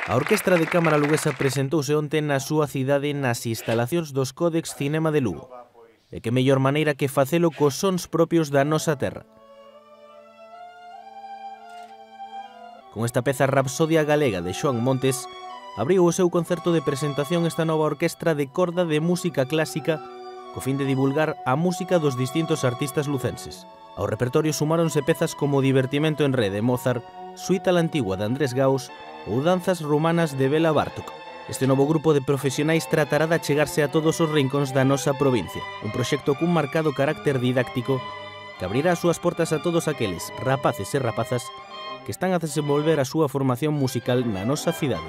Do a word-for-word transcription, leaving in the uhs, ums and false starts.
A Orquestra de Cámara luguesa presentouse onte na súa cidade nas instalacións dos Códex Cinema de Lugo. E que mellor maneira que facelo cos sons propios da nosa terra. Con esta peza Rapsodia Galega de Xoán Montes, abriu o seu concerto de presentación esta nova orquestra de corda de música clásica co fin de divulgar a música dos distintos artistas lucenses. Ao repertorio sumáronse pezas como Divertimento en Re de Mozart, Suite a la Antigua de Andrés Gauss ou Danzas Rumanas de Bela Bartók. Este novo grupo de profesionais tratará de achegarse a todos os rincóns da nosa provincia, un proxecto cun marcado carácter didáctico que abrirá as súas portas a todos aqueles rapaces e rapazas que están a desenvolver a súa formación musical na nosa cidade.